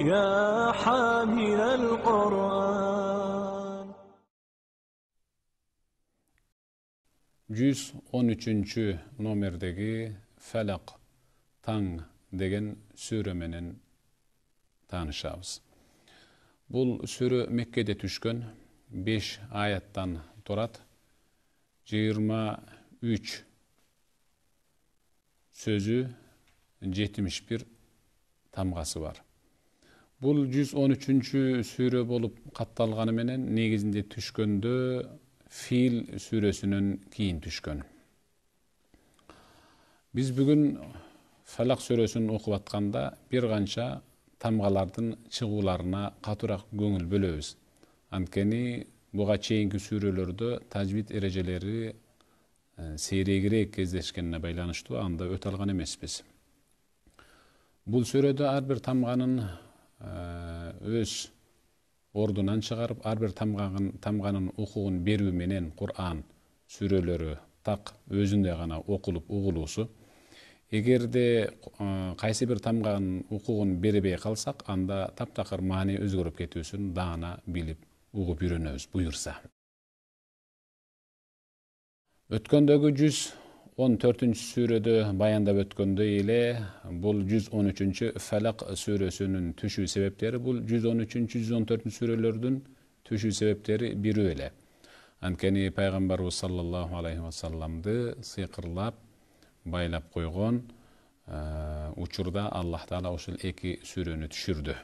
يا حامل القرآن. 113 номердеги Felak Taң деген сүрө менен таанышабыз. Бул сүрө Меккеде түшкөн, 5 аяттан турат, 23 сөзү, 71 тамгасы бар. Бул 113 сүрө болуп катталганы менен негизинде түшкөндө Фил сүрөсүнөн кийин түшкөн. Биз бүгүн Felak сүрөсүн окуп атканда бир канча тамгалардын чыгууларына катуураак көңүл бөлөбүз. Анткени буга чейинки сүрөлөрдө тажвид эрежелери сейрегирээк кездешкенине байланыштуу анда өтө алган эмеспиз. Бул сүрөдө ар бир тамганын өз ордунан чыгарып, ар бир тамганын укугун берүү менен Кур'ан сүрөлөрү так өзүндө гана окулуп угулуусу. Эгерде кайсы бир тамганын укугун бербей калсак, анда таптакыр маани өзгөрүп кетүүсүн даана билип, угуп үйрөнөбүз буюрса. Өткөндөгү 114 сүрөдө баяндап өткөндөй эле, бул 113 Felak сүрөсүнүн түшүү себептери бул 113-114 сүрөлөрдүн түшүү себептери бирөө эле. Анткени пайгамбарыбыз саллаллаху алейхи ва салламды сыйкырлап байлап койгон учурда Аллах Таала ушул эки сүрөнү түшүрдү.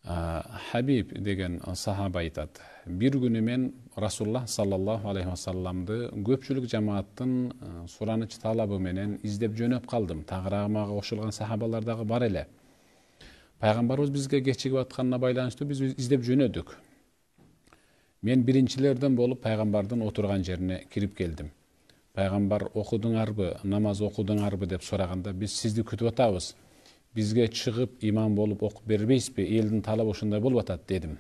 Хабиб деген сахаба айтат: бир күнү мен Расулуллах саллаллаху алейхи ва салламды көпчүлүк жамааттын сураныч талабы менен издеп жөнөп калдым. Тагыраагы мага кошулган сахабалар дагы бар эле. Пайгамбарыбыз бизге кечигип атканына байланыштуу биз издеп жөнөдүк. Мен биринчилерден болуп пайгамбардын отурган жерине кирип келдим. Пайгамбар окудуңарбы, намаз окудуңарбы деп сураганда, биз сизди күтүп атабыз. Бизге чыгып имам болуп окуп бербейсизби? Элдин талабы ушундай болуп атат дедим.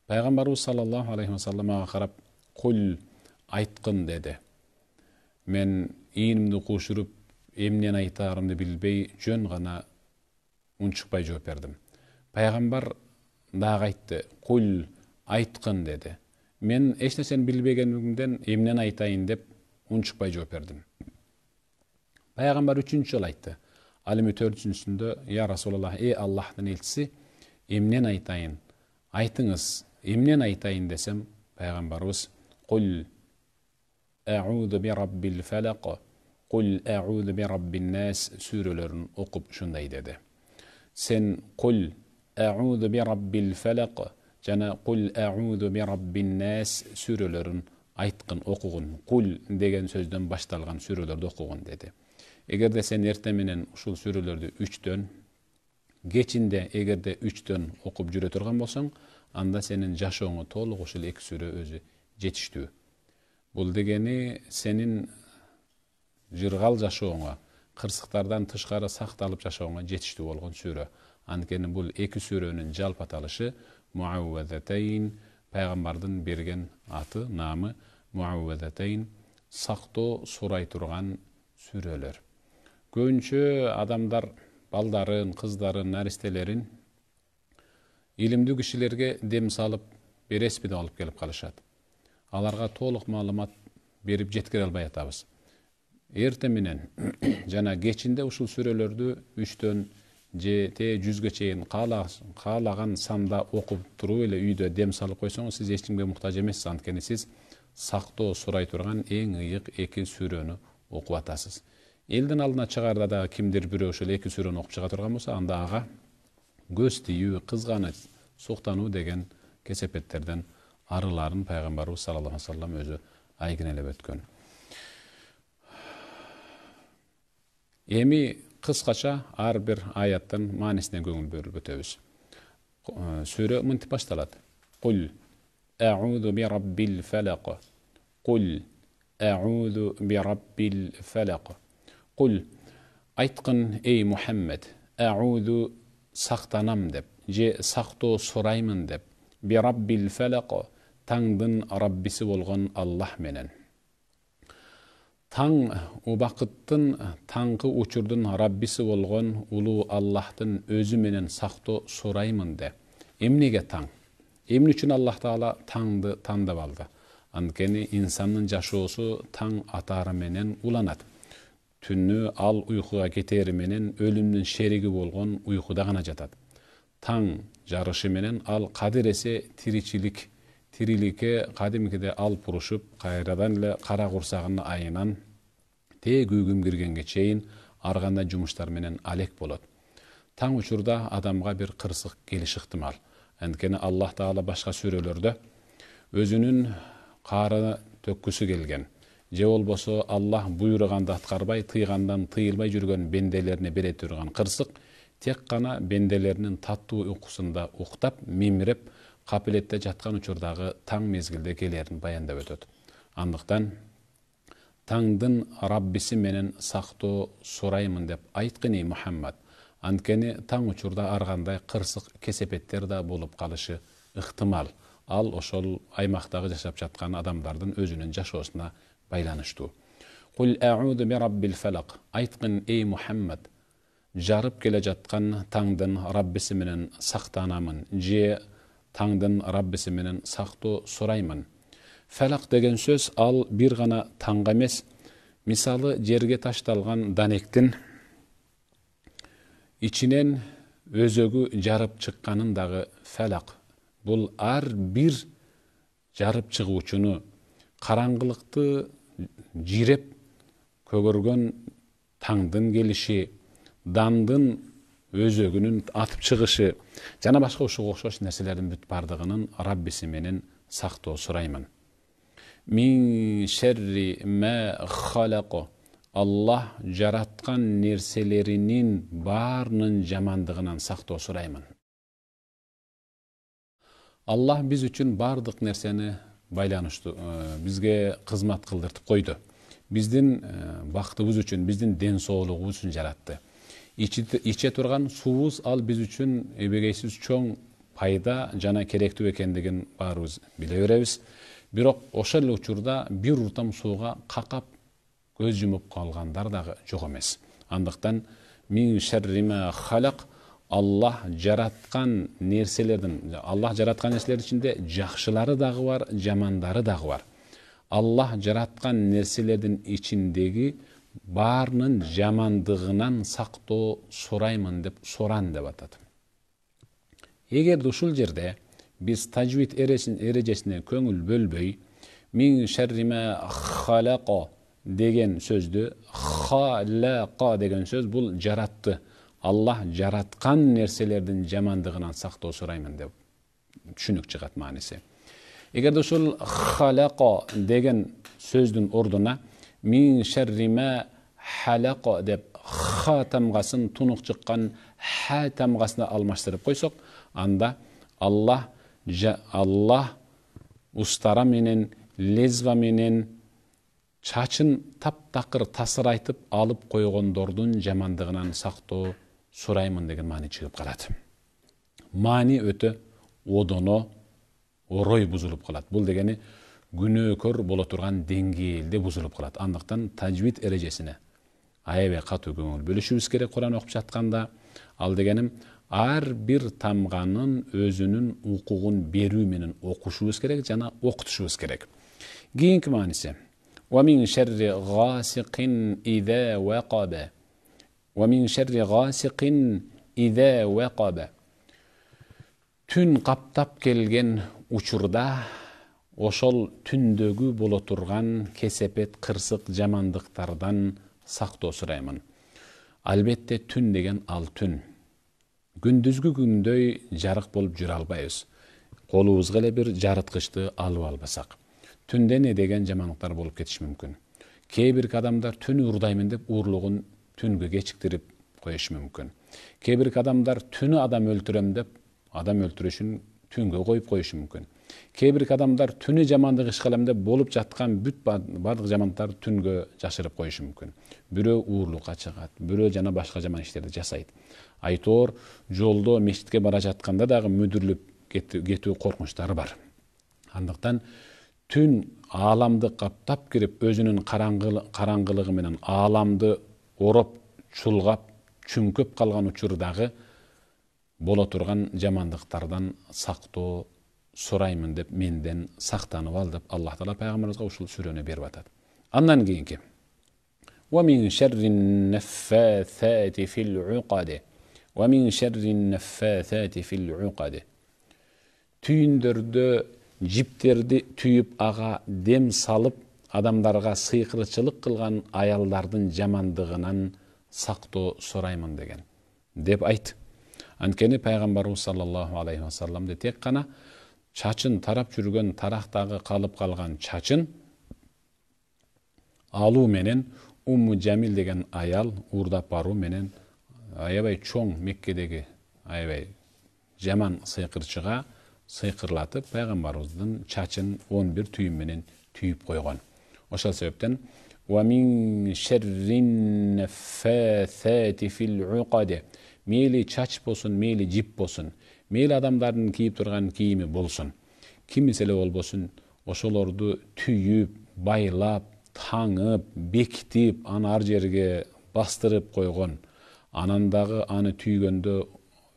Пайгамбарыбыз саллаллаху алейхи ва саллам мага карап, "Кул, айткын" деди. Мен ийнимди кушуруп, эмнени айтаарымды билбей, жөн гана унчукпай жооп бердим. Пайгамбар дагы айтты: "Кул, айткын" деди. Мен эч нерсени билбегенимден эмнени айтайын деп унчукпай жооп бердим. Пайгамбар 3-чү жолу айтты. Ал эми 4-чүсүндө: "Я Расулаллах, Аллахтын элчиси, эмнени айтайын? Айтыңыз, эмнени айтайын" десем, пайгамбарыбыз "Кул а'уду би раббил фалак, кул а'уду би раббин нас" сүрөлөрүн окуп ушундай деди. Сен "Кул а'уду би раббил фалак" жана "Кул а'уду би раббин нас" сүрөлөрүн айткын, окугун. Кул деген сөздөн башталган сүрөлөрдү окугун деди. Эгерде сен эртең менен ушул сүрөлөрдү 3төн, кечинде эгерде 3төн окуп жүрө турган болсоң, анда сенин жашооңо толук ушул эки сүрө өзү жетиштүү. Бул дегени сенин жыргал жашооңо, кырсыктардан тышкары сакталып жашооңо жетиштүү болгон сүрө. Анткени бул эки сүрөнүн жалпы аталышы Муаввазатайн, пайгамбардын берген аты, намы Муаввазатайн, сактоо сурай турган сүрөлөр. Көбүнчө адамдар балдарын, кыздарын, наристелерин илимдүү кишилерге дем салып бересиби деп алып келип калышат. Аларга толук маалымат берип жеткире албай атабыз. Эртең менен жана кечинде ушул сүрөлөрдү 3төн же 100гө чейин каалаган санда окуп туруп эле үйдө дем салып койсоңуз, сиз эч кимге муктаж эмессиз. Анткени сиз сактоо сурай турган эң ыйык эки сүрөнү окуп атасыз. Элдин алдына чыгарда дагы кимдир бирөө ушул эки сүрөнү окуп чыга турган болсо, анда ага көз тийүү, кызганыч, суктануу деген кесепеттерден арыларын пайгамбарыбыз саллаллаху алейхи ва саллам өзү айгинелеп өткөн. Эми кыскача ар бир аяттын маанисине көңүл бөлүп өтөбүз. Сүрө мынтип башталат. Кул а'уду би раббил фалак. Кул а'уду би раббил фалак. Кул, айткын эй Мухаммед, а'уду сактанам деп, же сактоо сураймын деп, би раббил фалак, таңдын раббиси болгон Аллах менен. Таң убакыттын таңкы учурдун Раббиси болгон улуу Аллахтын өзү менен сактоо сураймын де. Эмнеге таң? Эмне үчүн Аллах Таала таңды тандап алды? Анткени инсандын жашоосу таң атары менен уланат. Түнү ал уйкуга кетери менен өлүмдүн шериги болгон уйкуда гана жатат. Таң жарышы менен ал кадыресе тириликке кадимкиде алып урушуп, кайрадан эле кара курсагынын айынан күгүм киргенге чейин ар кандай жумуштар менен алек болот. Таң учурда адамга бир кырсык келиши ыктымал. Анткени Аллах Таала башка сүрөлөрдө өзүнүн каары төккүсү келген, же болбосо Аллах буйруганды аткарбай, тыйгандан тыйылбай жүргөн бенделерине бере турган кырсык тек гана бенделеринин таттуу уйкусунда уктап, мимиреп, капилетте жаткан учурдагы таң мезгилде келерин баяндап өтөт. Андыктан таңдын Раббиси менен сактоо сураймын деп айткыны Мухаммад. Анткени таң учурда ар кандай кырсык кесепеттер да болуп калышы ыктымал. Ал ошол аймактагы жашап жаткан адамдардын өзүнүн жашоосуна байланыштуу. Кул а'уду би раббил фалак. Айткын эй Мухаммад, жарып келе жаткан таңдын Раббиси менен сактанамын, же таңдын Раббиси менен сактоо сураймын. Фалак деген сөз ал бир гана таңга эмес, мисалы жерге ташталган данектин ичинен өзөгү жарып чыкканын дагы фалак. Бул ар бир жарып чыгуучуну караңгылыкты жиреп көгөргөн таңдын келиши, дандын өзөгүнүн атып чыгышы жана башка ушуга окшош нерселердин бүт бардыгынын Раббиси менен сактоо сураймын. Мин шерри ма халако. Аллах жараткан нерселеринин баарынын жамандыгынан сактоо сураймын. Аллах биз үчүн бардык нерсени байланыштуу бизге кызмат кылдыртып койду. Биздин бактыбыз үчүн, биздин ден соолугубуз үчүн жаратты. Иче турган суубуз ал биз үчүн эбегейсиз чоң пайда жана керектүү экендигин баарыбыз биле беребиз. Бирок ошол эле учурда бир уртам сууга какап көз жумуп калгандар дагы жок эмес. Андыктан мин шерри ма халак, Аллах жараткан нерселердин ичинде жакшылары дагы бар, жамандары дагы бар. Аллах жараткан нерселердин ичиндеги баарынын жамандыгынан сактоо сураймын деп суран деп атат. Эгерде ушул жерде биз тажвид эрежесине көңүл бөлбөй, мин шерри ма халако деген сөздү халака деген сөз бул жаратты. Аллах жараткан нерселердин жамандыгынан сактоо сураймын деп түшүнүк чыгат мааниси. Эгерде ушул халако деген сөздүн ордуна мин шерри ма халако деп ха тамгасын тунук чыккан ха тамгасына алмаштырып койсок, анда Аллах устара менен, лезва менен чачын таптакыр тасырайтып алып койгондордун жамандыгынан сактоо сураймын деген маани чыгып калат. Маани өтө одоно, орой бузулуп калат. Бул дегени күнөөкөр боло турган деңгээлде бузулуп калат. Андыктан тажвид эрежесине аябай катуу көңүл бөлүшүбүз керек. Куран окуп жатканда ал дегеним ар бир тамганын өзүнүн укугун берүү менен окушубуз керек жана окутушубуз керек. Кийинки мааниси وَمِنْ شَرِّ غَاسِقٍ إِذَا وَقَبَ وَمِنْ شَرِّ غَاسِقٍ إِذَا وَقَبَ. Түн каптап келген учурда ошол түндөгү боло турган кесепет, кырсык, жамандыктардан сактоо сураймын. Албетте түн деген ал түн. Күндүзгү күндөй жарык болуп жүрө албайбыз. Колубузга эле бир жарыткычты алып албасак. Түндө не деген жамандыктар болуп кетиши мүмкүн. Кээ бир адамдар түнү уурдаймын деп уурлугун түнгө кечиктирип коюшу мүмкүн. Кээ бир адамдар түнү адам өлтүрөм деп адам өлтүрүшүн түнгө коюп коюшу мүмкүн. Кээ бир адамдар түнү жамандык иш кылам деп болуп жаткан бүт бардык жамандыктарды түнгө жашырып коюшу мүмкүн. Бирөө уурлукка чыгат, бирөө жана башка жаман иштерди жасайт. Айтор жолдо мешитке бара жатканда дагы мүдүрүлүп кетүү коркунучтары бар. Андыктан түн ааламды каптап кирип өзүнүн караңгылыгы менен ааламды ороп чулгап чүңкөп калган учурдагы боло турган жамандыктардан сактоо сураймын деп менден сактанып ал деп Аллах Таала пайгамбарыбызга ушул сүрөнү берип атат. Андан кийинки وَمِنْ شَرِّ النَّفَّاثَاتِ فِي الْعُقَدِ وَمِنْ شَرِّ النَّفَّاثَاتِ فِي الْعُقَدِ Түйүндөрдө жиптерди түйүп ага дем салып адамдарга сыйкырчылык кылган аялдардын жамандыгынан сактоо сураймын деген деп айт. Анткени пайгамбарыбыз саллаллаху алейхи вассаламды тек кана чачын тарап жүргөн тарактагы калып калган чачын алуу менен Умму Жамил деген аял уурдап баруу менен аябай чоң Меккедеги аябай жаман сыйкырчыга сыйкырлатып пайгамбарыбыздын чачын 11 түйүм менен түйүп койгон. Ошол себептен وَمِنْ شَرِّ النَّفَّاثَاتِ فِي الْعُقَدِ мейли чач болсун, мейли жип болсун, мейли адамдардын кийип турган кийими болсун, кимиси эле болбосун, ошолорду түйүп, байлап, таңып, бекитип, аны ар жерге бастырып койгон, анан дагы аны түйгөндө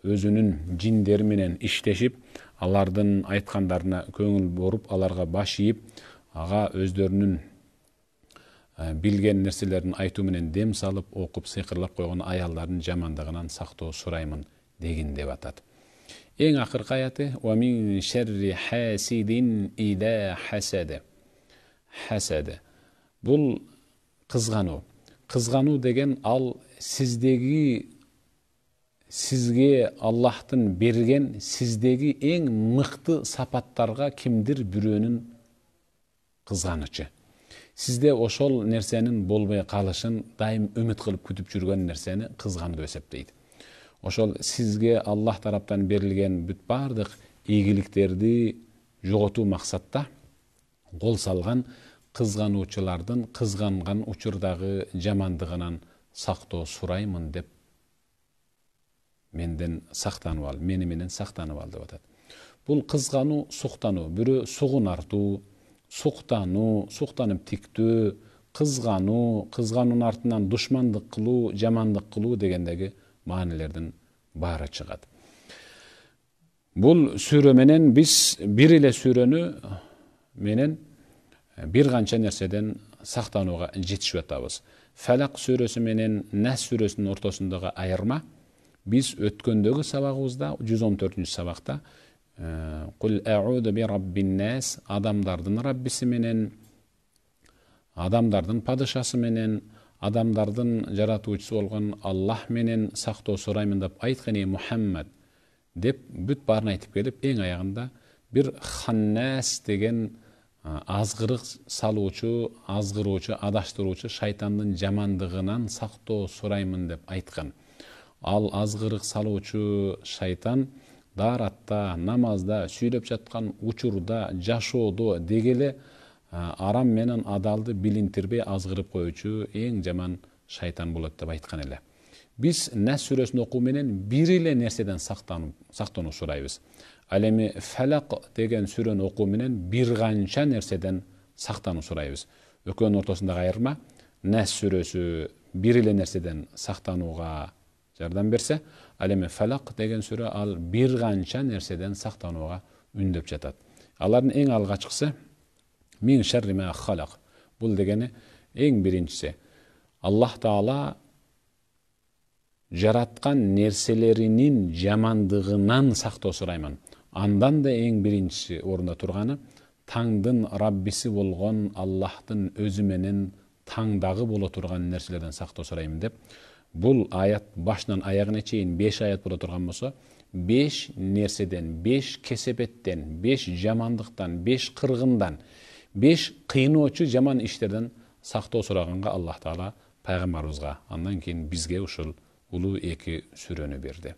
өзүнүн жиндери менен иштешип, алардын айткандарына көңүл буруп, аларга баш ийип, ага өздөрүнүн билген нерселерин айтуу менен дем салып, окуп, сыйкырлап койгон аялдардын жамандыгынан сактоо сураймын деген деп атат. Эң акыркы аяты وَمِنْ شَرِّ حَاسِدٍ إِذَا حَسَدَ Хасад. Бул кызгануу. Кызгануу деген ал сизге Аллахтын берген сиздеги эң мыкты сапаттарга кимдир бирөөнүн кызганычы. Сизде ошол нерсенин болбой калышын дайым үмүт кылып күтүп жүргөн нерсени кызгануу деп эсептейт. Ошол сизге Аллах тараптан берилген бүт бардык ийгиликтерди жоготуу максатта кол салган кызгануучулардын кызганган учурдагы жамандыгынан сактоо сураймын деп менден сактанып ал, мени менен сактанып ал деп атат. Бул кызгануу, суктануу, бирөө сугунартуу, суктануу, суктанып тиктөө, кызгануу, кызгануунун артынан душмандык кылуу, жамандык кылуу дегендеги маанилердин баары чыгат. Бул сүрө менен биз бир эле сүрөнү менен бир канча нерседен сактанууга жетишип атабыз. Фалак сүрөсү менен Нас сүрөсүнүн ортосундагы айырма биз өткөндөгү сабагыбызда 114 сабакта Кул а'уду би раббин нас адамдардын раббиси менен, адамдардын падышасы менен, адамдардын жаратуучусу болгон Аллах менен сактоо сураймын деп айткан Мухаммад деп бүт баарын айтып келип, эң аягында бир ханнас деген азгырык салуучу, азгыруучу, адаштыруучу шайтандын жамандыгынан сактоо сураймын деп айткан. Ал азгырык салуучу шайтан daarатта, намазда, сүйлөп жаткан учурда, жашоодо дегеле арам менен адалды билинтирбей азгырып коючу эң жаман шайтан болот деп айткан эле. Биз Нас сүрөсүн окуу менен бир эле нерседен сактануу сурайбыз. Ал эми Фалак деген сүрөнү окуу менен бир канча нерседен сактануу сурайбыз. Экөөнүн ортосундагы айырма Нас сүрөсү бир эле нерседен сактанууга жардам берсе, ал эми Фалак деген сүрө ал бир канча нерседен сактанууга үндөп жатат. Алардын эң алгачкысы мин шарри ма халак. Бул дегени эң биринчиси Аллах Таала жараткан нерселеринин жамандыгынан сактоо сураймын. Андан да эң биринчи орунда турганы таңдын Раббиси болгон Аллахтын өзү менен таңдагы боло турган нерселерден сактоо сураймын деп. Бул аят башынан аягына чейин 5 аят боло турган болсо, 5 нерседен, 5 кесепеттен, 5 жамандыктан, 5 кыргындан, 5 кыйноочу жаман иштерден сактоо сураганга Аллах Таала пайгамбарыбызга, андан кийин бизге ушул улуу 2 сүрөнү берди.